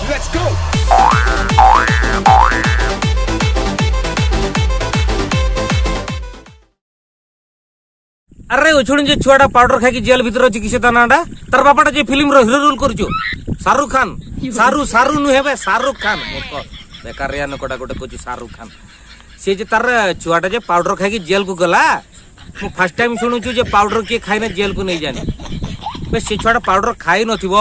Let's go. ଆରେ ଉଛୁଣି ଯେ ଛୁଆଟା ପାଉଡର ଖାଇକି ଜେଲ ଭିତରେ ଅଛି, କିସ ତା ନାଁଟା? ତାର ବାପାଟା ଯେ ଫିଲ୍ମର ହିରୋ ରୋଲ କରୁଛୁ, ଶାହରୁଖ ଖାନ। ସାରୁ ସାରୁ ନୁହେଁ ବେ, ଶାହରୁଖ ଖାନ। ମୂର୍ଖ ବେକାରିଆ ଲୋକଟା ଗୋଟେ କହୁଛି ଶାହରୁଖ ଖାନ। ସେ ଯେ ତାର ଛୁଆଟା ଯେ ପାଉଡର ଖାଇକି ଜେଲକୁ ଗଲା, ମୁଁ ଫାର୍ଷ୍ଟ ଟାଇମ ଶୁଣୁଛୁ ଯେ ପାଉଡର କିଏ ଖାଇନେ ଜେଲକୁ ନେଇଯାନି ବେ। ସେ ଛୁଆଟା ପାଉଡର ଖାଇ ନଥିବ।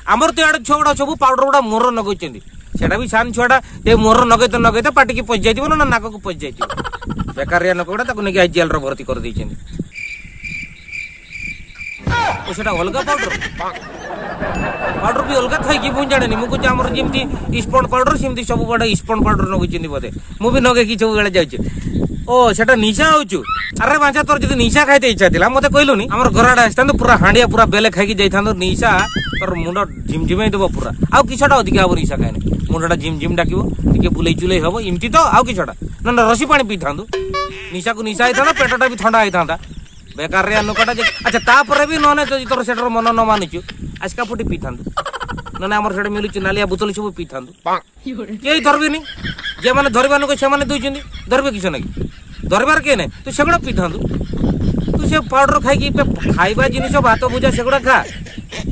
ଆମର ତ ଇଆଡ଼େ ଛୁଆ ଗୁଡ଼ା ସବୁ ପାଉଡର ଗୁଡ଼ା ମୋର ଲଗେଇଛନ୍ତି। ସେଟା ବି ସାନ ଛୁଆଟା, ଏ ମୋର ଲଗେଇତେ ଲଗେଇତେ ପାଟିକି ପଶି ଯାଇଥିବ ନା ନାକକୁ ପଶି ଯାଇଥିବ। ବେକାରିଆ ଲୋକ ଗୁଡ଼ା ତାକୁ ନେଇକି ଜେଲରେ ଭର୍ତ୍ତି କରିଦେଇଛନ୍ତି। ଓ, ସେଟା ଅଲଗା ପାଉଡର? ପାଉଡର ବି ଅଲଗା ଥାଏ କି ମୁଁ ଜାଣିନି। ମୁଁ କହୁଛି ଆମର ଯେମିତି ଇସ୍ପଣ୍ଡ ପାଉଡର, ସେମିତି ସବୁବେଳେ ଇସ୍ପଣ୍ଡ ପାଉଡର ଲଗେଇଛନ୍ତି ବୋଧେ। ମୁଁ ବି ଲଗେଇକି ସବୁବେଳେ ଯାଉଛି। ଓ, ସେଟା ନିଶା ହଉଛୁ? ଆରେ ବାଞ୍ଚା, ତୋର ଯଦି ନିଶା ଖାଇତେ ଇଚ୍ଛା ଥିଲା ମତେ କହିଲୁନି? ଆମର ଘର ଆଡେ ଆସିଥାନ୍ତୁ, ପୁରା ହାଣ୍ଡିଆ ପୁରା ବେଲେ ଖାଇକି ଯାଇଥାନ୍ତୁ। ନିଶା ତୋର ମୁଣ୍ଡ ଝିମଝିମେଇ ଦେବ ପୁରା। ଆଉ କିଛଟା ଅଧିକା ହବ ନିଶା ଖାଇନେ? ମୁଣ୍ଡଟା ଝିମ ଝିମ ଡାକିବ, ଟିକେ ବୁଲେଇ ଚୁଲେଇ ହବ, ଏମିତି ତ ଆଉ କିଛଟା ନା ନା ରସି ପାଣି ପିଇଥାନ୍ତୁ। ନିଶାକୁ ନିଶା ହେଇଥାନ୍ତା, ପେଟଟା ବି ଥଣ୍ଡା ହେଇଥାନ୍ତା। ବେକାରିଆ ଲୋକଟା ଯେ। ଆଚ୍ଛା, ତାପରେ ବି ନହେଲେ ଯଦି ତୋର ସେଟାର ମନ ନ ମାନୁଛୁ, ଆସ୍କା ଫୁଟି ପିଇଥାନ୍ତୁ, ନହେଲେ ଆମର ସେଟା ମିଳୁଛି ନାଲିଆ ବୋତଲ, ସବୁ ପିଇଥାନ୍ତୁ। କେହି ଧରିବେନି। ଯେଉଁମାନେ ଧରିବା ଲୋକ ସେମାନେ ଦଉଛନ୍ତି, ଧରିବେ କିଛି ନାଇଁ, ଧରିବାର କେହି ନାହିଁ। ତୁ ସେଗୁଡ଼ା ପିଇଥାନ୍ତୁ। ତୁ ସେ ପାଉଡର ଖାଇକି, ଖାଇବା ଜିନିଷ ଭାତ ଭୁଜା ସେଗୁଡ଼ା ଖା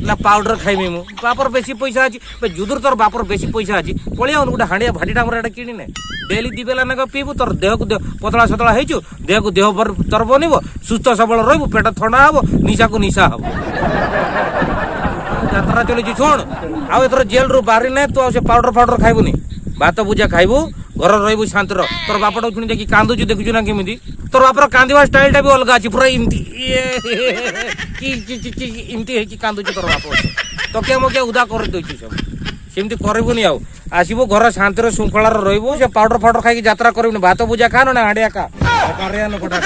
ନା। ପାଉଡର ଖାଇବି ମୁଁ, ବାପର ବେଶୀ ପଇସା ଅଛି। ଯୁଦୁର ତୋର ବାପର ବେଶୀ ପଇସା ଅଛି, ପଳେଇ ଆଉନୁ, ଗୋଟେ ହାଣ୍ଡିଆ ଭାଟିଟା ଆମର ଏଟା କିଣିନେ, ଡେଲି ଦି ବେଲା ନେଖା ପିଇବୁ। ତୋର ଦେହକୁ ଦେହ ପତଳା ସତଳା ହେଇଛୁ, ଦେହକୁ ଦେହ ତୋର ବନିବ, ସୁସ୍ଥ ସବଳ ରହିବୁ, ପେଟ ଥଣ୍ଡା ହବ, ନିଶାକୁ ନିଶା ହବ। ଯାତ୍ରା ଚଲିଛି। ଶୁଣ, ଆଉ ଏଥର ଜେଲରୁ ବାହାରିନେ ତୁ ଆଉ ସେ ପାଉଡର ଫାଉଡର ଖାଇବୁନି, ଭାତ ଭୁଜା ଖାଇବୁ, ଘର ରହିବୁ ଶାନ୍ତିର। ତୋର ବାପଟା ଶୁଣି ଯାଇକି କାନ୍ଦୁଛୁ, ଦେଖୁଛୁ ନା କେମିତି? ତୋର ବାପର କାନ୍ଦିବା ଷ୍ଟାଇଲଟା ବି ଅଲଗା ଅଛି, ପୁରା ଏମିତି କି ଏମିତି ହେଇକି କାନ୍ଦୁଛି ତୋର ବାପ, ତକିଆ ମକିଆ ଉଦା କରିଦେଉଛି ସବୁ। ସେମିତି କରିବୁନି ଆଉ। ଆସିବୁ, ଘର ଶାନ୍ତିର ଶୃଙ୍ଖଳାରେ ରହିବୁ। ସେ ପାଉଡର ଫାଉଡର ଖାଇକି ଯାତ୍ରା କରିବୁନି। ଭାତ ଭୁଜା ଖା, ନା ହାଣ୍ଡିଆ ଖା। ଲୋକଟା।